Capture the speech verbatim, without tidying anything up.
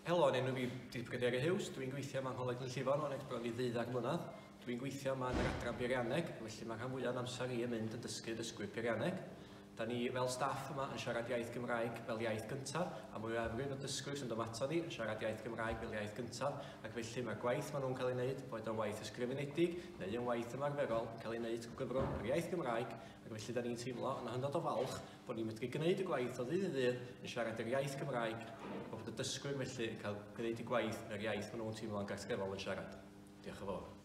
Helo, yn enw fi 'di Pryderi Hughes. Dwi'n gweithio yma yng Ngholeg Glynllifon o'n ers bron i ddeuddag mlynedd. Dwi'n gweithio yma yn yr adran beirianneg, felly mae rhan fwyaf o'n amser i yn mynd yn dysgu dysgwyr peirianneg. Da ni fel staff yma yn siarad iaith Gymraeg fel iaith gyntaf, a mwyafrif o dysgwyr sy'n dod ato ni yn siarad iaith Gymraeg fel iaith gyntaf, ac felly mae'r gwaith maen nhw'n cael ei wneud, boed o'n waith ysgrifenedig neu yn waith ymarferol, yn cael ei wneud trwy gyfrwng yr iaith Gymraeg, ac felly da ni'n teimlo yn hynod o falch bod ni'n medru gwneud y gwaith o ddydd i ddydd yn siarad yr iaith Gymraeg, a bod y dysgwyr felly yn cael gwneud y gwaith yn yr iaith maen nhw'n teimlo'n gartrefol yn siarad. Diolch yn fawr.